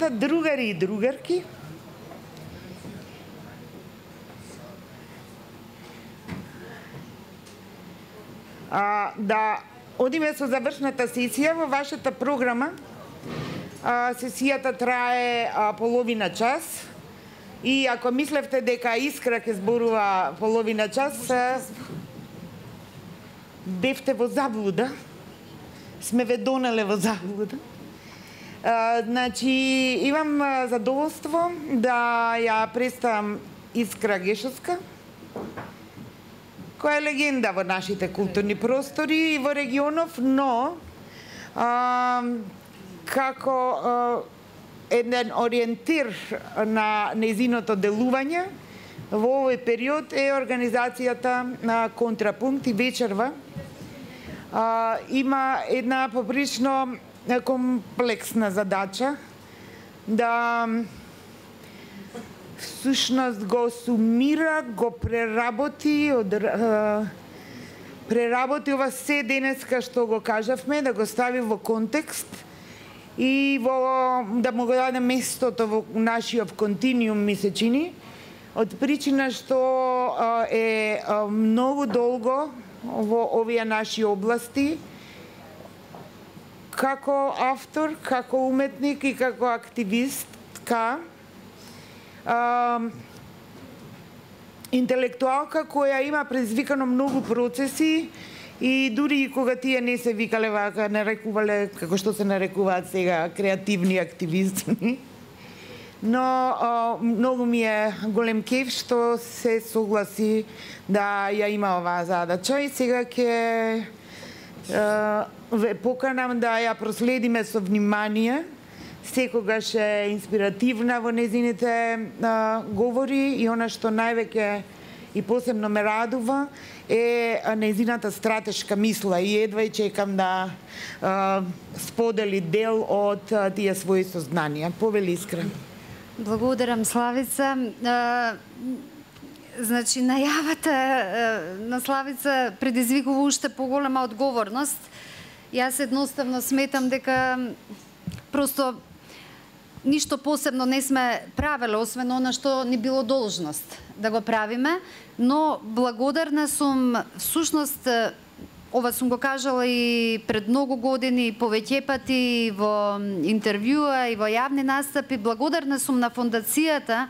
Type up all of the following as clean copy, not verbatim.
работа, другари и другарки. Да одиме со завршната сесија во вашата програма. Сесијата трае половина час и ако мислевте дека Искра ќе зборува половина час, бевте во заблуда. Сме ве донеле во заблуда. Значи, имам задоволство да ја представам Искра Гешовска, која е легенда во нашите културни простори и во регионов, но како еден ориентир на нејзиното делување во овој период е организацијата на Контрапункт и вечерва. Има една поприлично комплексна задача да всушност го сумира, го преработи ова се денеска што го кажавме, да го стави во контекст и да му го даде местото во нашиот континуум, ми се чини, од причина што е многу долго во овие наши области, како автор, како уметник и како активистка, интелектуалка која има предизвикано многу процеси и дури кога тие не се викале вака, нарекувале како што се нарекуваат сега креативни активисти. Но многу ми е голем кеф што се согласи да ја има оваа задача и сега ќе ве поканам да ја проследиме со внимание. Секогаш е инспиративна во незините говори и она што највеќе и посебно ме радува е незината стратешка мисла и едва и чекам да сподели дел од тие своји сознанија. Повели, Искра. Благодарам, Славица. Значи, најавата на Славица предизвикува уште поголема одговорност. Јас едноставно сметам дека просто ништо посебно не сме правеле, освен она што ни било должност да го правиме, но благодарна сум, всушност, ова сум го кажала и пред многу години, повеќе пати во интервјуа и во јавни настапи, благодарна сум на фондацијата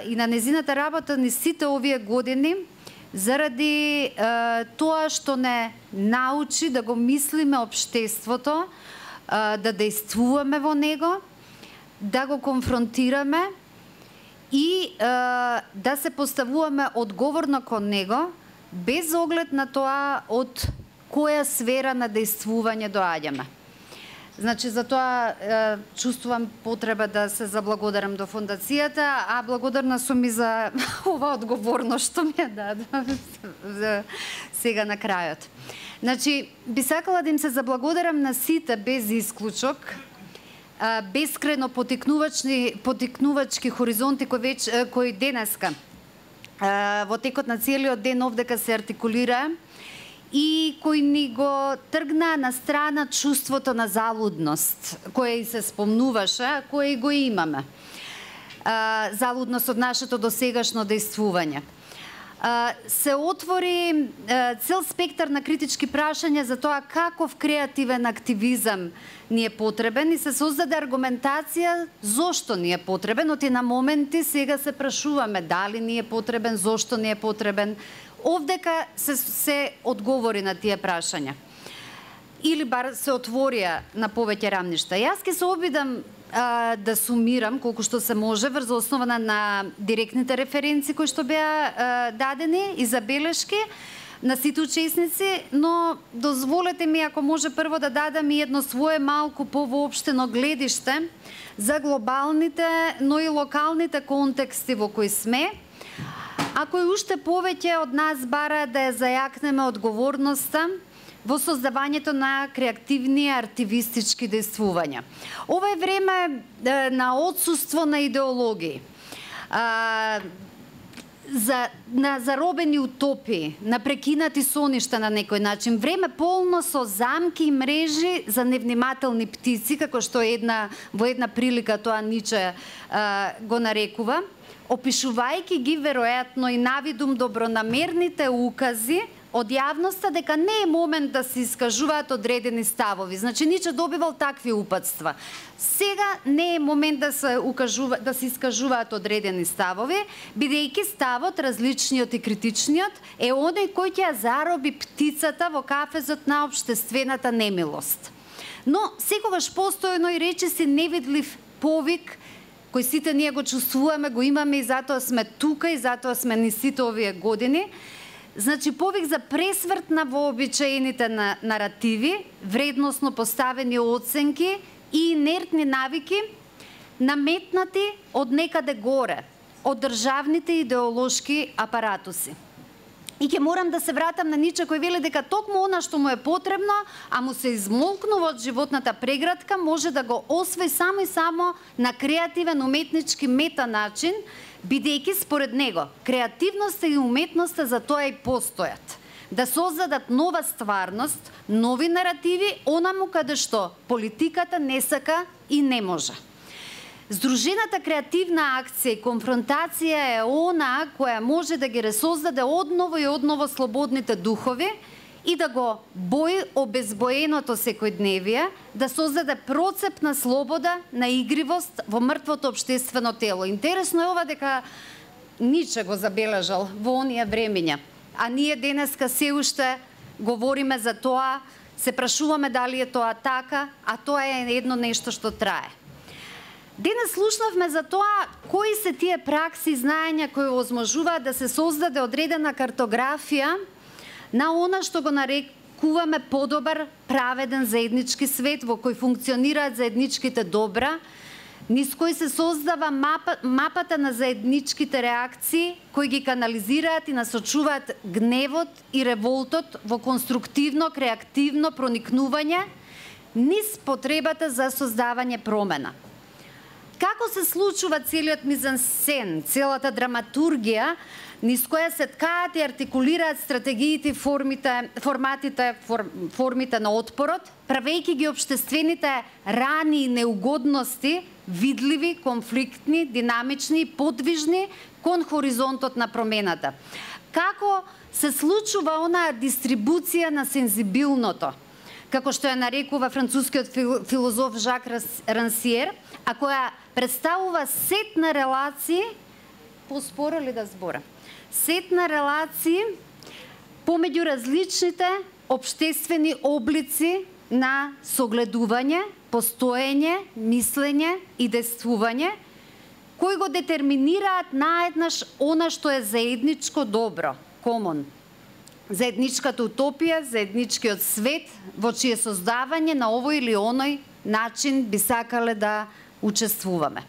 и на незината работа ни сите овие години, заради тоа што не научи да го мислиме општеството, да действуваме во него, да го конфронтираме и да се поставуваме одговорно кон него, без оглед на тоа од која сфера на действување доаѓаме. Значи, за тоа чувствувам потреба да се заблагодарам до фондацијата, а благодарна сум и за ова одговорност што ми ја даде сега на крајот. Значи, би сакала да им се заблагодарам на сите без исклучок, бескрајно потикнувачки хоризонти кои денеска во текот на целиот ден овдека се артикулира и кои ни го тргна на страна чувството на залудност, кое и се спомнуваше, кое и го имаме. Залудност од нашето досегашно действување. Се отвори цел спектар на критички прашања за тоа каков креативен активизам ни е потребен и се создаде аргументација зошто ни е потребен, оти на моменти сега се прашуваме дали ни е потребен, зошто ни е потребен. Овдека се одговори на тие прашања. Или бар се отворија на повеќе рамништа. Јас ќе се обидам да сумирам колку што се може врз основа на директните референции кои што беа дадени и забелешки на сите учесници, но дозволете ми ако може прво да дадам и едно свое малку повоопштено гледиште за глобалните, но и локалните контексти во кои сме, а кои уште повеќе од нас бараат да ја зајакнеме одговорноста во создавањето на креативни артивистички действувања. Ова е време на отсуство на идеологии. на заробени утопии, на прекинати соништа на некој начин. Време полно со замки и мрежи за невнимателни птици, како што во една прилика тоа Ниче го нарекува, опишувајќи ги веројатно и навидум добронамерните укази од јавноста дека не е момент да се искажуваат одредени ставови. Значи, Ниче добивал такви упатства. Сега не е момент да се искажуваат одредени ставови, бидејќи ставот, различниот и критичниот, е оној кој ќе зароби птицата во кафезот на општествената немилост. Но, секогаш постојано и речиси невидлив повик, кој сите ние го чувствуваме, го имаме и затоа сме тука и затоа сме ни сите овие години. Значи, повик за пресврт на вообичаените наративи, вредносно поставени оценки и инертни навики, наметнати од некаде горе, од државните идеолошки апаратуси. И ќе морам да се вратам на Ниче кој вели дека токму она што му е потребно, а му се измолкнува од животната преградка, може да го освои само и само на креативен уметнички мета начин, бидејќи според него креативноста и уметноста за тоа и постојат. Да создадат нова стварност, нови наративи, онаму каде што политиката не сака и не може. Здружената креативна акција и конфронтација е она која може да ги ресоздаде одново и одново слободните духови и да го бои обезбоеното секојдневие, да создаде процеп на слобода, на игривост во мртвото општествено тело. Интересно е ова дека Ниче го забележал во оние времиња, а ние денеска се уште говориме за тоа, се прашуваме дали е тоа така, а тоа е едно нешто што трае. Денес слушнавме за тоа кои се тие пракси и знаења кои возможуваат да се создаде одредена картографија на она што го нарекуваме подобар, праведен заеднички свет во кој функционираат заедничките добра, низ кој се создава мапата на заедничките реакции кои ги канализираат и насочуваат гневот и револтот во конструктивно, креативно проникнување низ потребата за создавање промена. Како се случува целиот мизансцен, целата драматургија, низ која се ткаат и артикулираат стратегиите и формите на отпорот, правејќи ги општествените рани и неугодности видливи, конфликтни, динамични и подвижни кон хоризонтот на промената. Како се случува онаа дистрибуција на сензибилното, како што ја нарекува францускиот филозоф Жак Рансиер, а која представува сет на релации, поспора ли да збора? Сет на релации помеѓу различните општествени облици на согледување, постоење, мислење и действување, кои го детерминираат наеднаш она што е заедничко добро, комон. Заедничката утопија, заедничкиот свет, во чие создавање на овој или оној начин би сакале да учествуваме.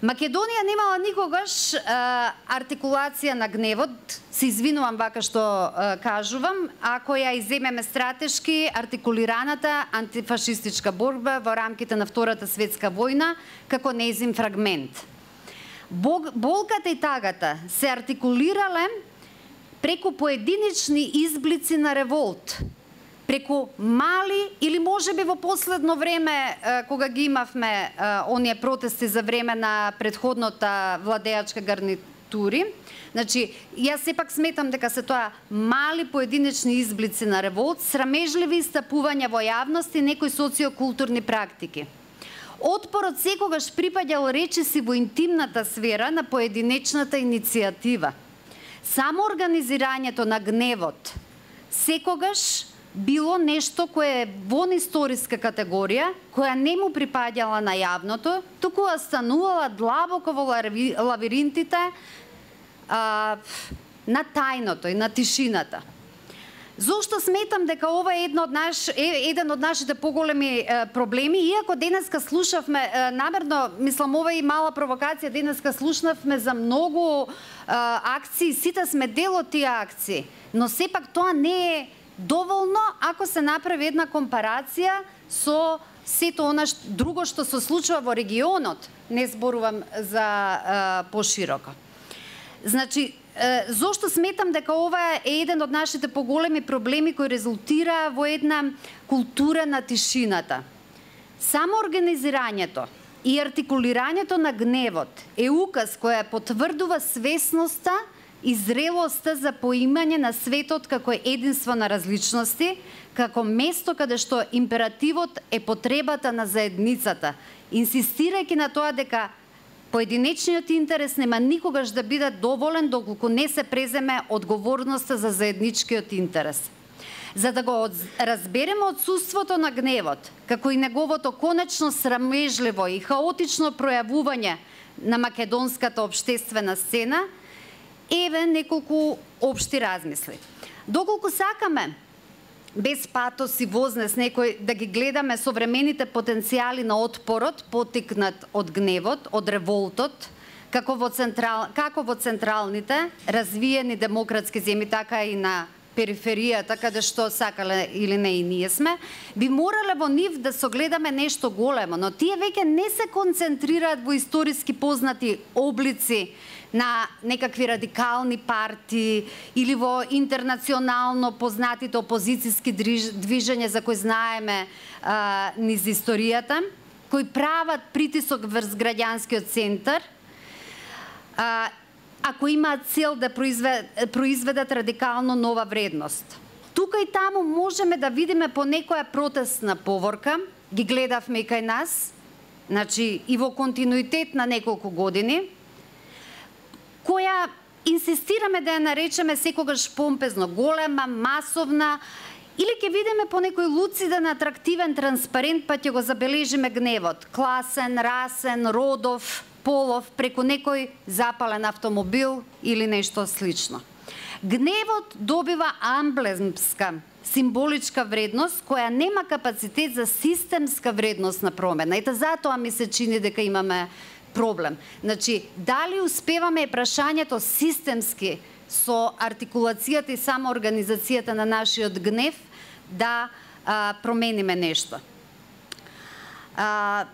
Македонија немала никогаш артикулација на гневот, се извинувам вака што кажувам, ако ја иземеме стратешки артикулираната антифашистичка борба во рамките на Втората светска војна како нејзин фрагмент. Болката и тагата се артикулирале преку поединечни изблици на револт, преку мали или можеби во последно време кога ги имавме оние протести за време на претходната владеачка гарнитури. Значи, јас сепак сметам дека се тоа мали поединечни изблици на револт, срамежливи истапувања во јавност и некои социокултурни практики. Отпорот секогаш припаѓал речиси во интимната сфера на поединечната иницијатива. Само организирањето на гневот секогаш било нешто кое е вон историска категорија, која не му припаѓала на јавното, туку останувала длабоко во лавиринтите на тајното и на тишината. Зошто сметам дека ова е еден од нашите поголеми проблеми, иако денеска слушавме, намерно, мислам, ова е и мала провокација, денеска слушнавме за многу акции, сите сме дел од тие акции, но сепак тоа не е доволно ако се направи една компарација со сето она друго што се случува во регионот, не зборувам за пошироко. Значи, зошто сметам дека ова е еден од нашите поголеми проблеми кои резултира во една култура на тишината. Само организирањето и артикулирањето на гневот е указ која потврдува свесноста и зрелоста за поимање на светот како единство на различности, како место каде што императивот е потребата на заедницата, инсистирајќи на тоа дека поединечниот интерес нема никогаш да биде доволен доколку не се преземе одговорноста за заедничкиот интерес. За да го разбереме отсуството на гневот, како и неговото конечно срамежливо и хаотично пројавување на македонската општествена сцена, еве неколку општи размисли. Доколку сакаме без патос и вознес некој да ги гледаме современите потенцијали на отпорот, потикнат од гневот, од револтот, како во централните, развиени демократски земји, така и на периферијата, каде што сакале или не и ние сме, би морале во нив да согледаме нешто големо, но тие веќе не се концентрираат во историски познати облици на некакви радикални партии или во интернационално познатите опозицијски движења за кои знаеме низ историјата, кои прават притисок врз граѓанскиот центар, ако имаат цел да произведат радикално нова вредност. Тука и таму можеме да видиме по некоја протестна поворка, ги гледавме и кај нас, значи и во континуитет на неколку години, која инсистираме да ја наречеме секогаш помпезно голема, масовна, или ќе видиме по некој луциден, атрактивен транспарент, па ќе го забележиме гневот, класен, расен, родов, полов, преку некој запален автомобил или нешто слично. Гневот добива амблемска, символичка вредност, која нема капацитет за системска вредност на промена. Ете затоа ми се чини дека имаме проблем. Значи, дали успеваме прашањето системски со артикулацијата и самоорганизацијата на нашиот гнев да промениме нешто. А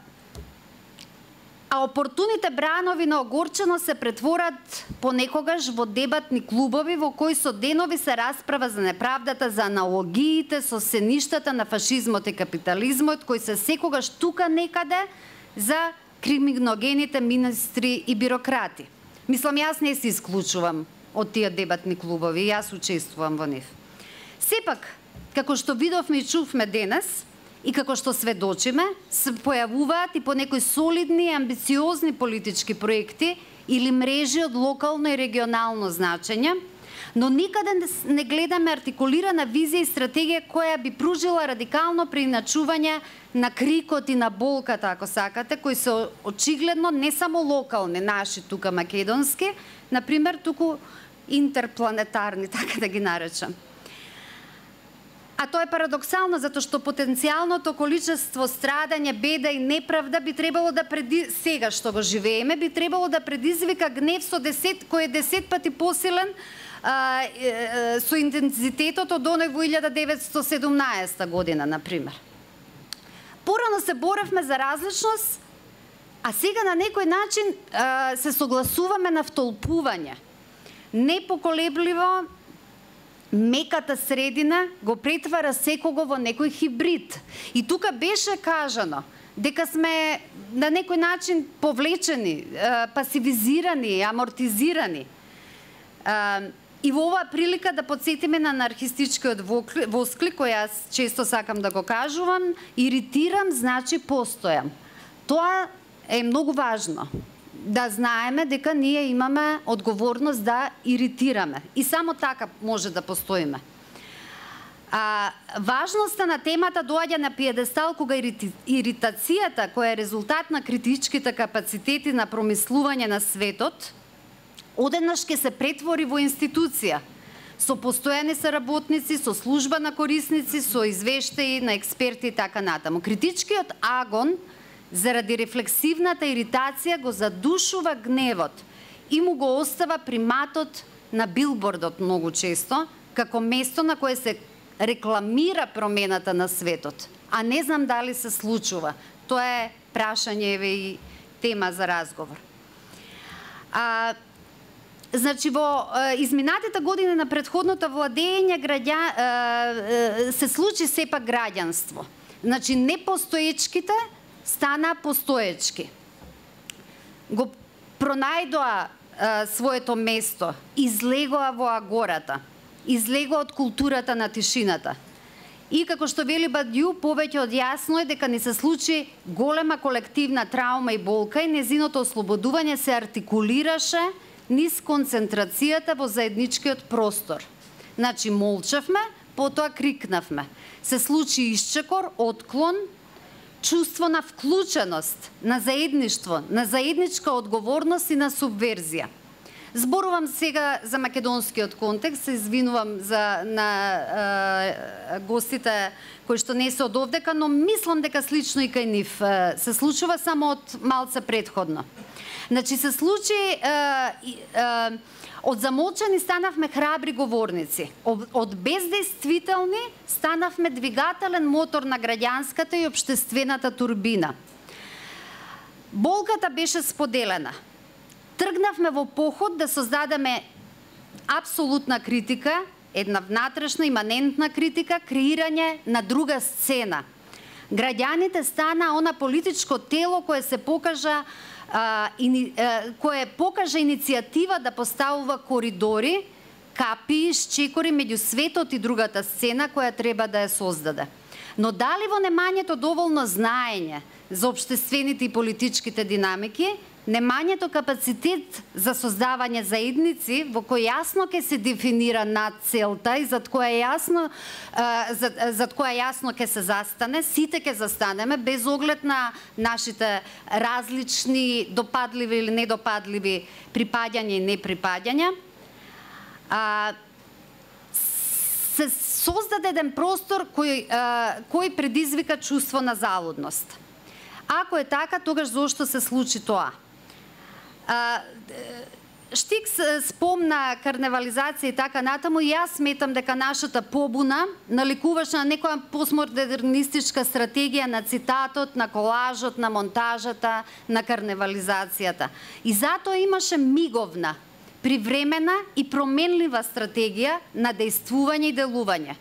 опортуните бранови на огорчено се претворат понекогаш во дебатни клубови во кои со денови се расправа за неправдата, за аналогиите со сеништата на фашизмот и капитализмот, кои се секогаш тука некаде за криминогените министри и бирократи. Мислам, јас не се исклучувам од тие дебатни клубови, јас учествувам во нив. Сепак, како што видовме и чувме денес, и како што сведочиме, се појавуваат и по некои солидни и амбициозни политички проекти или мрежи од локално и регионално значење, но никаде не гледаме артикулирана визија и стратегија која би пружила радикално преиначување на крикот и на болката, ако сакате, кои се очигледно не само локални, наши тука македонски, например, туку интерпланетарни, така да ги наречам. А тоа е парадоксално, затоа што потенцијалното количество страдање, беда и неправда би требало да сега што го живееме, би требало да предизвика гнев кој е 10 пати посилен со интензитетот од оној во 1917 година, например. Порано се боревме за различност, а сега на некој начин се согласуваме на втолпување. Непоколебливо, меката средина го претвара секого во некој хибрид. И тука беше кажано дека сме на некој начин повлечени, пасивизирани, амортизирани. И во оваа прилика да подсетиме на анархистичкиот восклик, кој јас често сакам да го кажувам, иритирам значи постојам. Тоа е многу важно. Да знаеме дека ние имаме одговорност да иритираме. И само така може да постоиме. Важноста на темата доаѓа на пиедестал кога иритацијата, која е резултат на критичките капацитети на промислување на светот, одеднаш ќе се претвори во институција, со постојани соработници, со служба на корисници, со извештаи на експерти и така натаму. Критичкиот агон заради рефлексивната иритација го задушува гневот и му го остава приматот на билбордот многу често, како место на кое се рекламира промената на светот, а не знам дали се случува. Тоа е прашање и тема за разговор. Значи, во изминатите години на претходното владење се случи сепак граѓанство. Значи, непостоечките стана постоечки. Го пронајдоа своето место, излегоа во агората, излегоа од културата на тишината. И како што вели Бадју, повеќе од јасно е дека ни се случи голема колективна траума и болка и незиното ослободување се артикулираше низ концентрацијата во заедничкиот простор. Значи, молчавме, потоа крикнавме. Се случи исчекор, отклон, чувство на вклученост, на заедништво, на заедничка одговорност и на субверзија. Зборувам сега за македонскиот контекст, се извинувам на гостите кои што не се од овдека, но мислам дека слично и кај нив се случува, само од малце предходно. Значи, се случи, од замолчани станавме храбри говорници, од бездействителни станавме двигателен мотор на граѓанската и општествената турбина. Болката беше споделена. Тргнавме во поход да создадеме апсолутна критика, една внатрешна, иманентна критика, креирање на друга сцена. Граѓаните стана она политичко тело кое се покажа кое покажа иницијатива да поставува коридори, капи, шчекори меѓу светот и другата сцена која треба да ја создаде. Но дали во немањето доволно знаење за општествените и политичките динамики, немањето капацитет за создавање заедници во кој јасно ќе се дефинира над целта и зад која јасно ќе се застане, сите ќе застанеме без оглед на нашите различни допадливи или недопадливи припаѓања и неприпаѓања. Се создаде еден простор кој предизвика чувство на залудност. Ако е така, тогаш зошто се случи тоа? Штик спомна карневализација и така натаму, и јас сметам дека нашата побуна наликуваше на некоја постмодернистичка стратегија на цитатот, на колажот, на монтажата, на карневализацијата. И затоа имаше миговна, привремена и променлива стратегија на дејствување и делување.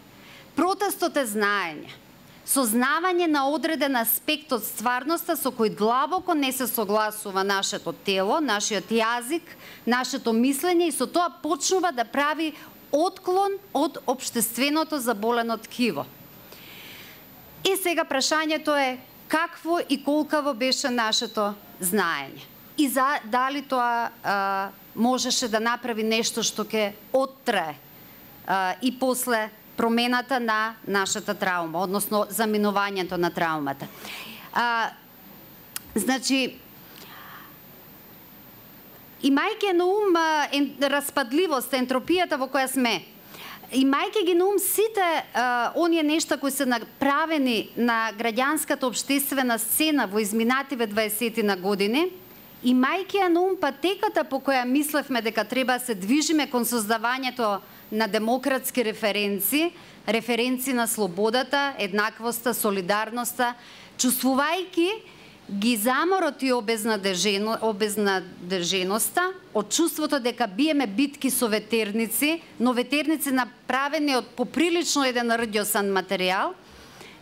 Протестот е знаење. Сознавање на одреден аспект од стварноста со кој длабоко не се согласува нашето тело, нашиот јазик, нашето мислење и со тоа почнува да прави отклон од општественото заболено ткиво. И сега прашањето е какво и колкаво беше нашето знаење. И дали тоа можеше да направи нешто што ќе оттрае и после промената на нашата траума, односно заминувањето на траумата. Значи, имајќи на ум распадливост, ентропијата во која сме, имајќи ги на ум сите оние нешта кои се направени на граѓанската општествена сцена во изминативе 20 на години, имајќи на ум патеката по која мислевме дека треба да се движиме кон создавањето на демократски референци на слободата, еднаквоста, солидарноста, чувствувајќи ги заморот и обезнадеженоста од чувството дека биеме битки со ветерници, но ветерници направени од поприлично еден рдјосан материјал,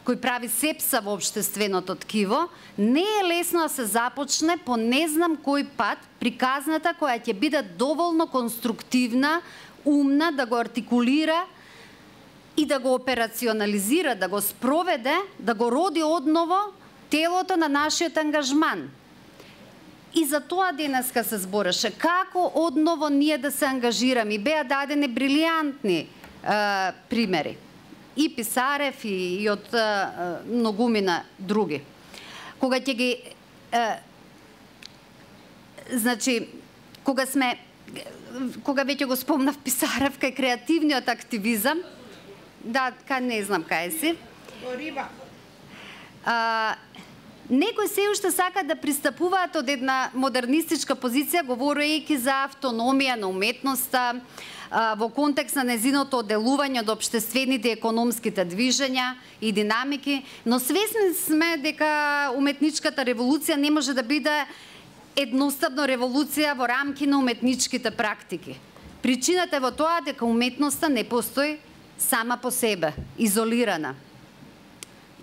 кој прави сепса во општественото ткиво, не е лесно да се започне по не знам кој пат приказната која ќе биде доволно конструктивна, умна, да го артикулира и да го операционализира, да го спроведе, да го роди одново телото на нашиот ангажман. И за тоа денеска се збореше. Како одново ние да се ангажираме? Беа дадени брилијантни примери. И Писарев, и од многумина други. Кога ќе ги... значи, кога веќе го спомнав Писарев кај креативниот активизам, да, не знам кај си. Некои се уште сакаат да пристапуваат од една модернистичка позиција, говорејќи за автономија на уметноста, во контекст на незиното оделување од општествените и економските движења и динамики, но свесни сме дека уметничката револуција не може да биде едноставно револуција во рамки на уметничките практики. Причината е во тоа дека уметноста не постои сама по себе, изолирана.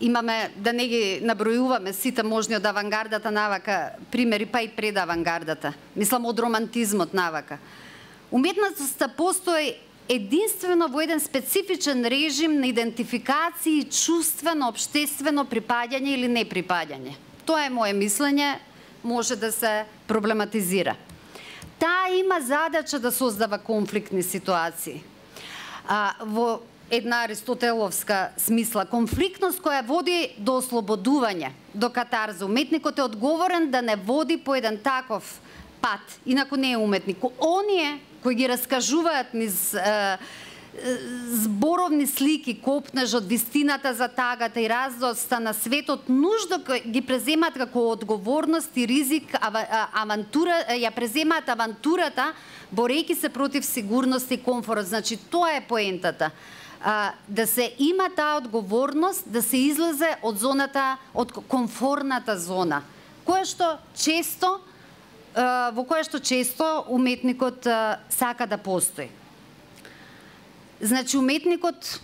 Имаме, да не ги набројуваме сите можни од авангардата навака примери, па и пред авангардата. Мислам од романтизмот навака. Уметноста постои единствено во еден специфичен режим на идентификација и чувствено, обштествено припаѓање или неприпаѓање. Тоа е моje мислење, може да се проблематизира. Таа има задача да создава конфликтни ситуации. Во една аристотеловска смисла, конфликтност која води до ослободување, до катарза. Уметникот е одговорен да не води по еден таков пат, инаку не е уметник. Оние кои ги раскажуваат низ зборовни слики, копнеж од вистината за тагата и раздоста на светот, нужно ги преземаат како одговорност и ризик, ја преземаат авантурата, борејќи се против сигурност и комфорт. Значи, тоа е поентата. Да се има таа одговорност, да се излезе од зоната, од комфорната зона, во која што често уметникот сака да постои. Значи, уметникот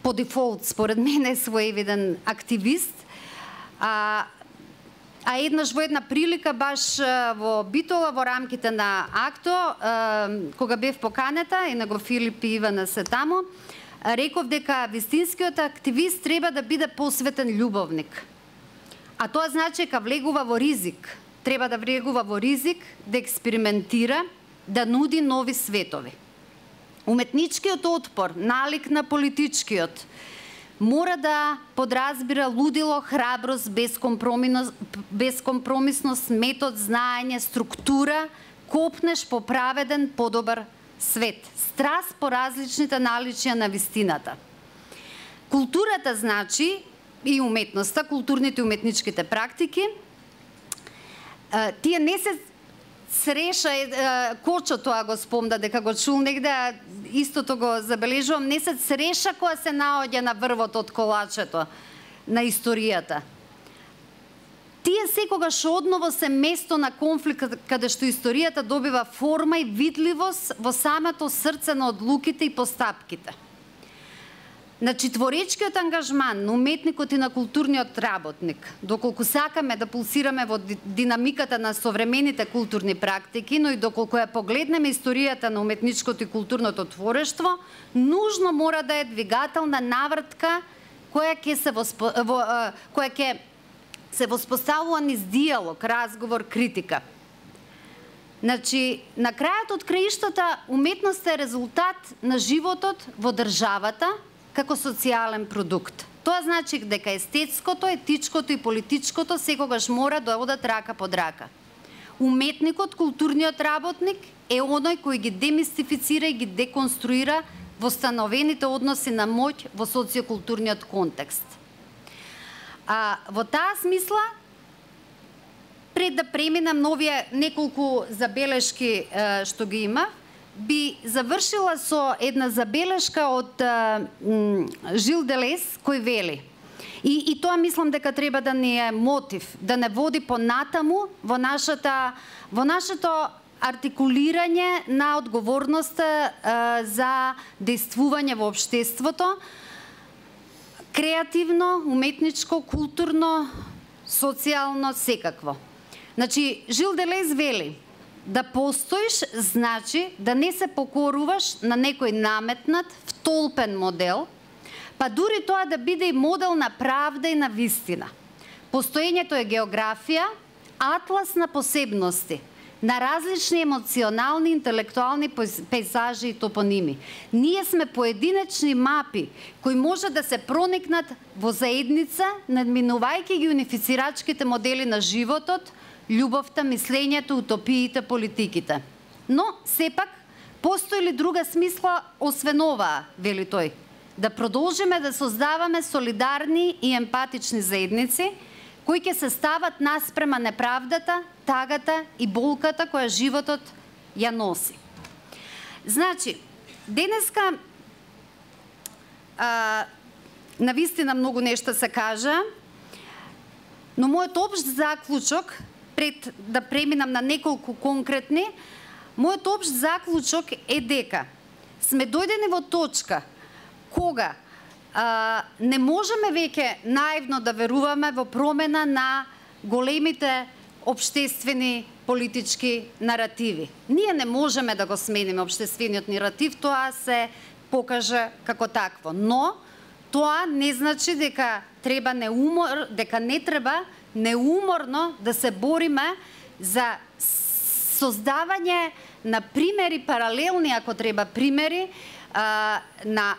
по дефолт, според мен, е своевиден активист, а еднаш во една прилика, баш во Битола, во рамките на АКТО, кога бев поканета, и на го Филип и Ивана се таму, реков дека вистинскиот активист треба да биде посветен љубовник. А тоа значи дека влегува во ризик. Треба да влегува во ризик, да експериментира, да нуди нови светови. Уметничкиот отпор, налик на политичкиот, мора да подразбира лудило, храброст, безкомпромисност, метод, знаење, структура, копнеш по праведен, подобар свет, страст по различните наличија на вистината. Културата значи и уметноста, културните и уметничките практики, тие не се среша, Кочо тоа го спомна дека го чул негде, истото го забележувам, не се среша која се наоѓа на врвот од колачето на историјата. Тие секогаш одново се место на конфликт, каде што историјата добива форма и видливост во самото срце на одлуките и постапките. Значи, творечкиот ангажман на уметникот и на културниот работник, доколку сакаме да пулсираме во динамиката на современите културни практики, но и доколку ја погледнеме историјата на уметничкото и културното творештво, нужно мора да е двигателна навртка која ќе се воспоставува низ диалог, разговор, критика. Значи, на крајот од краиштата, уметноста е резултат на животот во државата, како социјален продукт. Тоа значи дека естетското, етичкото и политичкото секогаш мора да одат рака под рака. Уметникот, културниот работник е оној кој ги демистифицира и ги деконструира востановените односи на моќ во социокултурниот контекст. Во таа смисла, пред да преминам на овие неколку забелешки што ги има, би завршила со една забелешка од Жил Делез, кој вели. И тоа мислам дека треба да ни е мотив, да не води понатаму во нашето артикулирање на одговорноста за действување во општеството, креативно, уметничко, културно, социјално, секакво. Значи, Жил Делез вели: да постоиш значи да не се покоруваш на некој наметнат, втолпен модел, па дури тоа да биде и модел на правда и на вистина. Постоењето е географија, атлас на посебности, на различни емоционални, интелектуални пейзажи и топоними. Ние сме поединечни мапи кои може да се проникнат во заедница, надминувајќи ги унифицирачките модели на животот, љубовта, мислењето, утопиите, политиките. Но, сепак, постои ли друга смисла освен оваа, вели тој? Да продолжиме да создаваме солидарни и емпатични заедници, кои ќе се стават наспрема неправдата, тагата и болката која животот ја носи. Значи, денеска навистина многу нешта се кажа, но мојот општ заклучок пред да преминам на неколку конкретни, мојот општ заклучок е дека сме дојдени во точка кога не можеме веќе наивно да веруваме во промена на големите општествени политички наративи. Ние не можеме да го смениме општествениот наратив, тоа се покаже како такво, но тоа не значи дека не треба неуморно да се бориме за создавање на примери, паралелни ако треба примери, на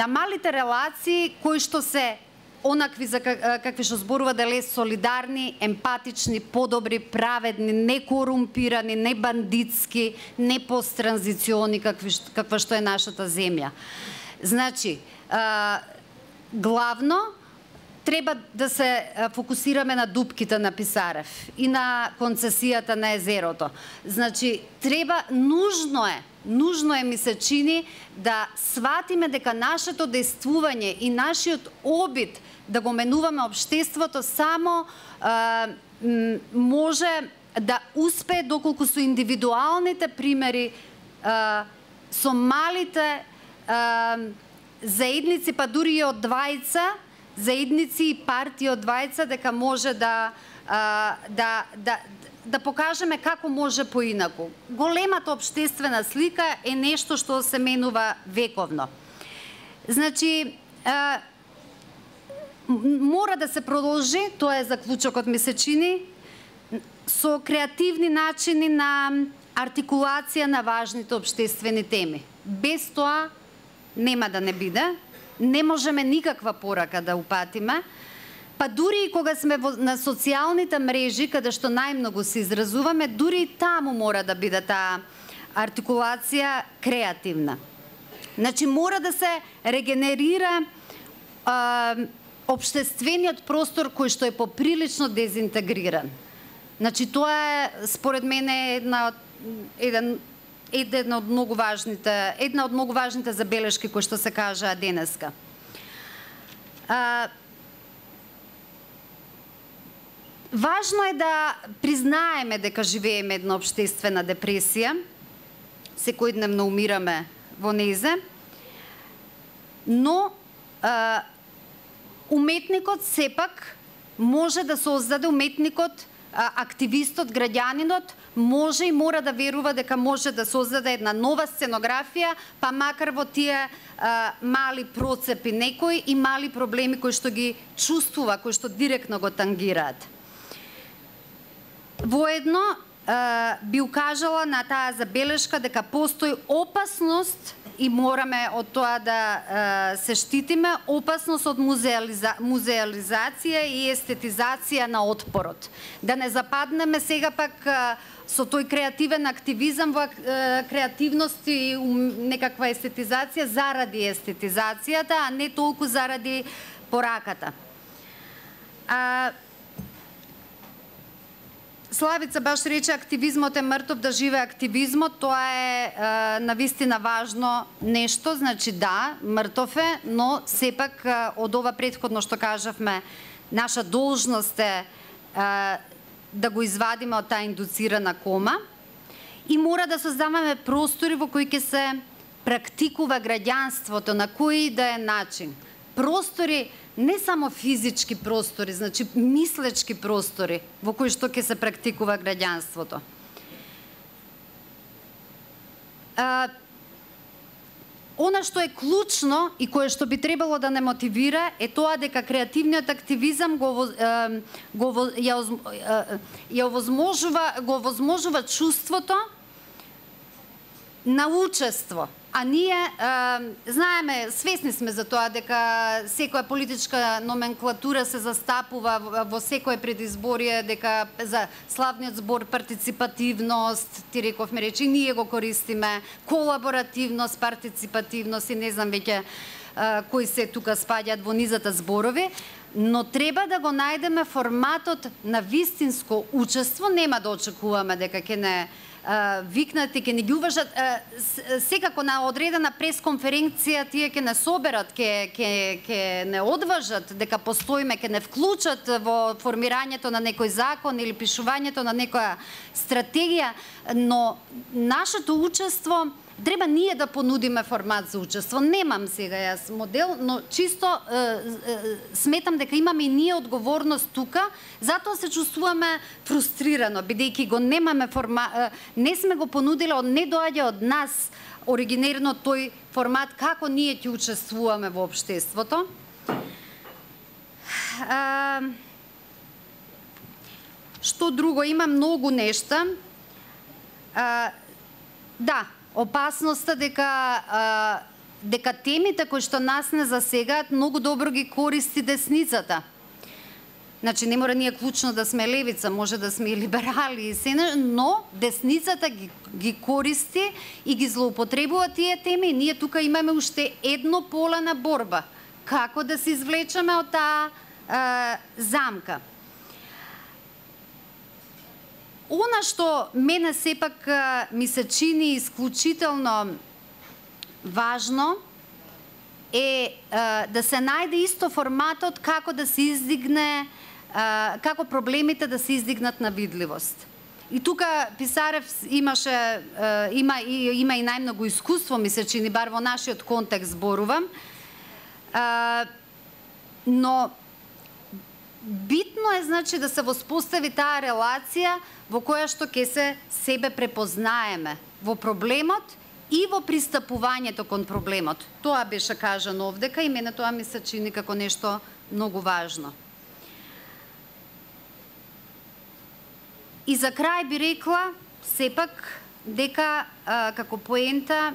малите релации кои што се онакви за какви што зборува дали солидарни, емпатични, подобри, праведни, не корумпирани, не бандитски, не посттранзициони каква што е нашата земја. Значи, главно треба да се фокусираме на дупките на Писарев и на концесијата на езерото. Значи, нужно е ми се чини да сватиме дека нашето действување и нашиот обид да го менуваме општеството само може да успее доколку со индивидуалните примери, со малите заедници, па дури и од двајца, заедници и партии од двајца, дека може да покажеме како може поинаку. Големата општествена слика е нешто што се менува вековно. Значи, мора да се продолжи, тоа е заклучокот ми се чини, со креативни начини на артикулација на важните општествени теми. Без тоа нема да не биде, не можеме никаква порака да упатиме, па дури и кога сме на социјалните мрежи, каде што најмногу се изразуваме, дури и таму мора да биде таа артикулација креативна. Значи, мора да се регенерира општествениот простор кој што е поприлично дезинтегриран. Значи, тоа е, според мене, една од многу важните забелешки кои што се кажаа денеска. Важно е да признаеме дека живееме една општествена депресија, секојдневно умираме во незе, но уметникот сепак може да создаде, активистот, граѓанинот може и мора да верува дека може да создаде една нова сценографија, па макар во тие мали процепи некои и мали проблеми кои што ги чувствува, кои што директно го тангираат. Воедно би укажала на таа забелешка дека постои опасност и мораме од тоа да се штитиме, опасност од музеализација и естетизација на отпорот. Да не западнеме сега пак со тој креативен активизам во креативност и некаква естетизација заради естетизацијата, а не толку заради пораката. Славица баш рече активизмот е мртов, да живее активизмот, тоа е навистина важно нешто, значи да, мртов е, но сепак од ова претходно што кажавме, наша должност е да го извадиме од таа индуцирана кома и мора да создаваме простори во кои ќе се практикува граѓанството на кој да е начин. Простори, не само физички простори, значи мислечки простори во кои што ќе се практикува граѓанството. Она што е клучно и кое што би требало да не мотивира е тоа дека креативниот активизам го овозможува чувството на учество. А ние знаеме, свесни сме за тоа дека секоја политичка номенклатура се застапува во секое предизборие, дека за славниот збор партиципативност, ти рековме речи, ние го користиме, колаборативност, партиципативност и не знам веќе кои се тука спаѓаат во низата зборови, но треба да го најдеме форматот на вистинско учество, нема да очекуваме дека ќе не викнати, ќе не ги уважат, секако на одредена пресконференција тие ќе не соберат, ќе не одважат дека постоиме, ќе не вклучат во формирањето на некој закон или пишувањето на некоја стратегија, но нашето учество треба ние да понудиме формат за учество. Немам сега јас модел, но чисто сметам дека имаме и ние одговорност тука, затоа се чувствуваме фрустрирано, бидејќи го немаме не сме го понудиле, не доаѓа од нас оригинерно тој формат како ние ќе учествуваме во општеството. Што друго, има многу нешта. Да, опасноста дека темите кои што нас не засегаат многу добро ги користи десницата. Значи не мора ние клучно да сме левица, може да сме и либерали и се, но десницата ги користи и ги злоупотребува тие теми. Ние тука имаме уште едно поле на борба. Како да се извлечеме од таа замка? Она што мене сепак ми се чини исклучително важно е да се најде исто форматот како да се издигне, како проблемите да се издигнат на видливост. И тука Писарев има и најмногу искуство, ми се чини, бар во нашиот контекст зборувам, но битно е, значи, да се воспостави таа релација во која што ќе се себе препознаеме во проблемот и во пристапувањето кон проблемот. Тоа беше кажано овдека и мене тоа ми се чини како нешто многу важно. И за крај би рекла сепак дека како поента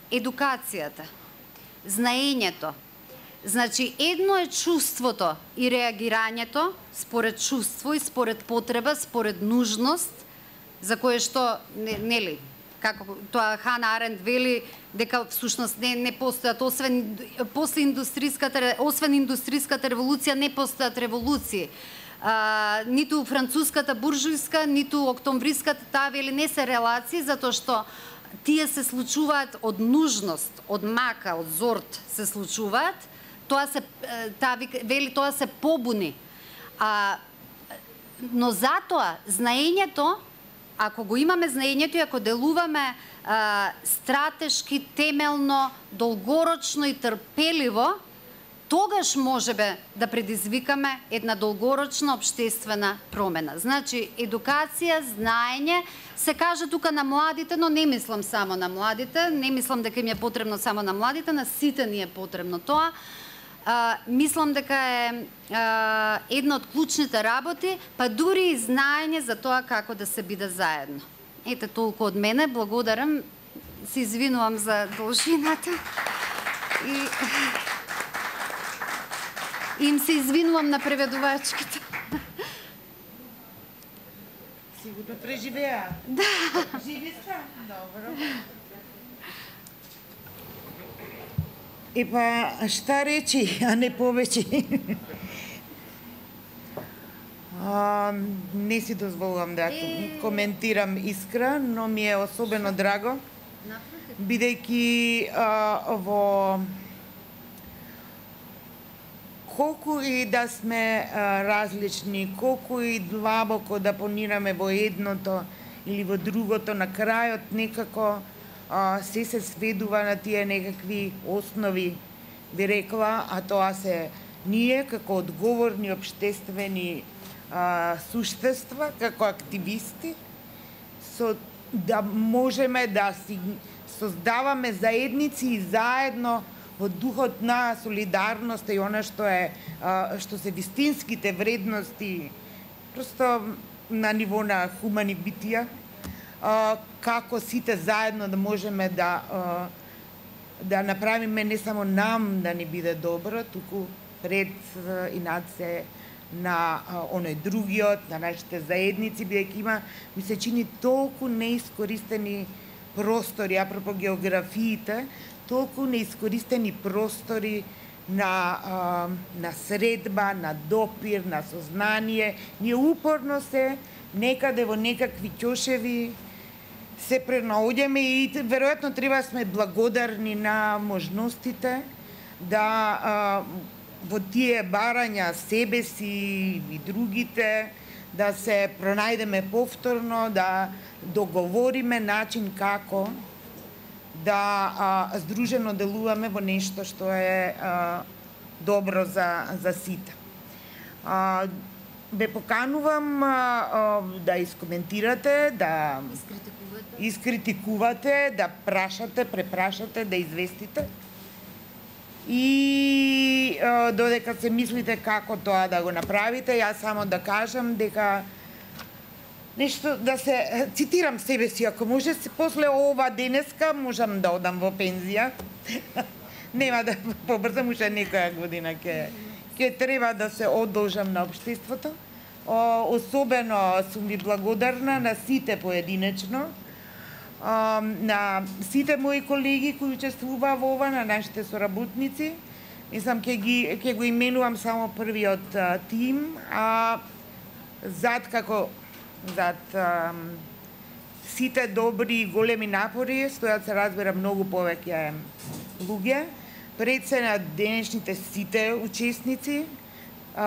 едукацијата, знаењето. Значи, едно е чувството и реагирањето според чувство и според потреба, според нужност, за кое што, нели, како тоа Хана Аренд вели, дека всушност не постојат, освен индустријската револуција, не постојат револуции. Ниту француската буржујска, ниту октомвриската, таа вели не се релации, затоа што тие се случуваат од нужност, од мака, од зорт се случуваат. Тоа се побуни. Но затоа знаењето, ако го имаме знаењето и ако делуваме стратешки, темелно, долгорочно и трпеливо, тогаш можеме да предизвикаме една долгорочна општествена промена. Значи, едукација, знаење, се каже тука на младите, но не мислам само на младите, не мислам дека им е потребно само на младите, на сите ни е потребно тоа. Мислам дека е една од клучните работи, па дури и знаење за тоа како да се биде заедно. Ете толку од мене, благодарам, се извинувам за должината и им се извинувам на преведувачките. Сигурно преживеа. Да. Живи сте? Добро. Епа, шта речи, а не повеќе? Не си дозволувам да коментирам Искра, но ми е особено драго, бидејќи во колку и да сме различни, колку и длабоко да понираме во едното или во другото, на крајот некако се сведува на тие некакви основи, би рекла, а тоа се ние како одговорни општествени суштества, како активисти, да можеме да си создаваме заедници и заедно во духот на солидарност и она што се вистинските вредности, просто на ниво на хумани битија, како сите заедно да можеме да направиме не само нам да ни биде добро, туку пред и над се на оној другиот, на нашите заедници, бидејќи има, ми се чини толку неискористени простори, апропо географиите, толку неискористени простори на средба, на допир, на сознание. Ние упорно се некаде во некакви ќошеви се пренаоѓаме и веројатно треба сме благодарни на можностите да во тие барања себе си и другите да се пронајдеме повторно, да договориме начин како да здружено делуваме во нешто што е добро за сите. Ве поканувам да искоментирате, да искритикувате, да прашате, препрашате, да известите. И додека се мислите како тоа да го направите, јас само да кажам дека нешто да се цитирам себе си, ако може после ова денеска можам да одам во пензија. Нема да побрзам, уште некоја година ќе треба да се одолжам на општеството. Особено сум ви благодарна на сите поединечно, на сите мои колеги кои учествуваа во ова, на нашите соработници. Мислам ќе го именувам само првиот тим, а зад сите добри и големи напори стојат, се разбира, многу повеќе луѓе. Пред се на денешните сите учесници,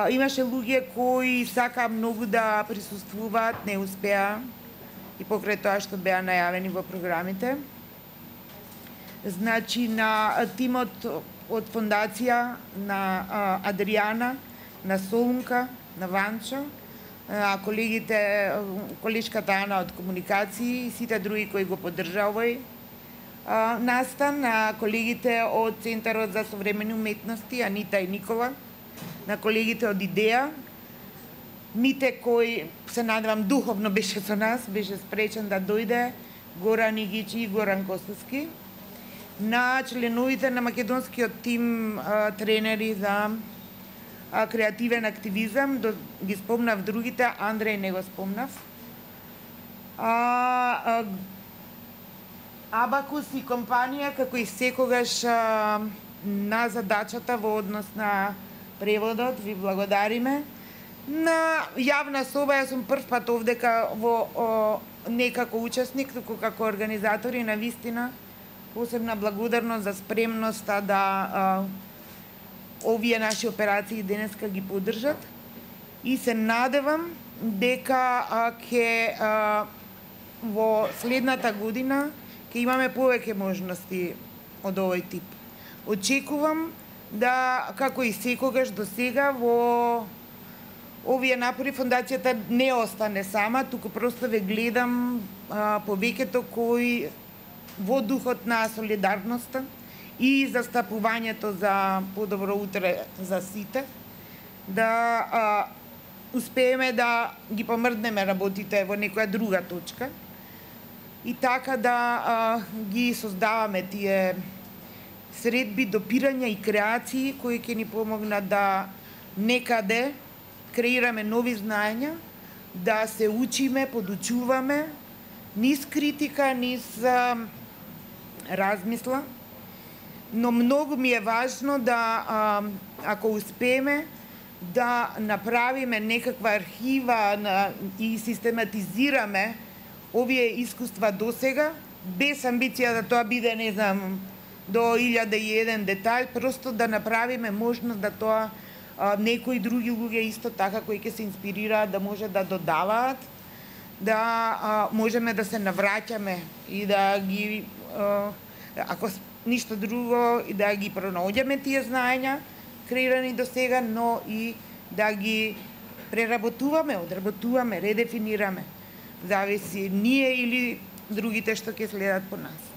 имаше луѓе кои сака многу да присуствуваат, не успеа и покрај тоа што беа најавени во програмите. Значи, на тимот од фондација, на Адријана, на Солунка, на Ванчо, на колешката Ана од комуникации и сите други кои го поддржаа овој настан, на колегите од Центарот за современи уметности, Анита и Никола, на колегите од Идеја, Мите кој се надевам духовно беше со нас, беше спречен да дојде, Горан Игичи и Горан Костовски, на членовите на македонскиот тим тренери за креативен активизам, ги спомнав другите, Андреј не го спомнав. Абакус и компанија, како и секогаш на задачата во однос на преводот, ви благодариме. На јавна соба, јас сум прв пат овдека не како учесник, туку како организатори, на вистина посебна благодарност за спремноста да овие наши операции денеска ги поддржат и се надевам дека ќе во следната година ќе имаме повеќе можности од овој тип. Очекувам да, како и секогаш до сега, во овие напори фондацијата не остане сама, туку просто ве гледам повеќето кои во духот на солидарноста и застапувањето за подобро утре за сите, да успееме да ги помрднеме работите во некоја друга точка и така да ги создаваме тие средби, допирања и креации кои ќе ни помогнат да некаде креираме нови знаења, да се учиме, подучуваме, низ критика, низ размисла, но многу ми е важно да, ако успееме, да направиме некаква архива и систематизираме овие искуства до сега, без амбиција да тоа биде, не знам, до 1001 детај, просто да направиме можност да тоа некои други луѓе исто така кои ќе се инспирираат да може да додаваат, да можеме да се навраќаме и да ги, ако ништо друго, и да ги пронаоѓаме тие знаења креирани до сега, но и да ги преработуваме, одработуваме, редефинираме. Зависи ние или другите што ќе следат по нас.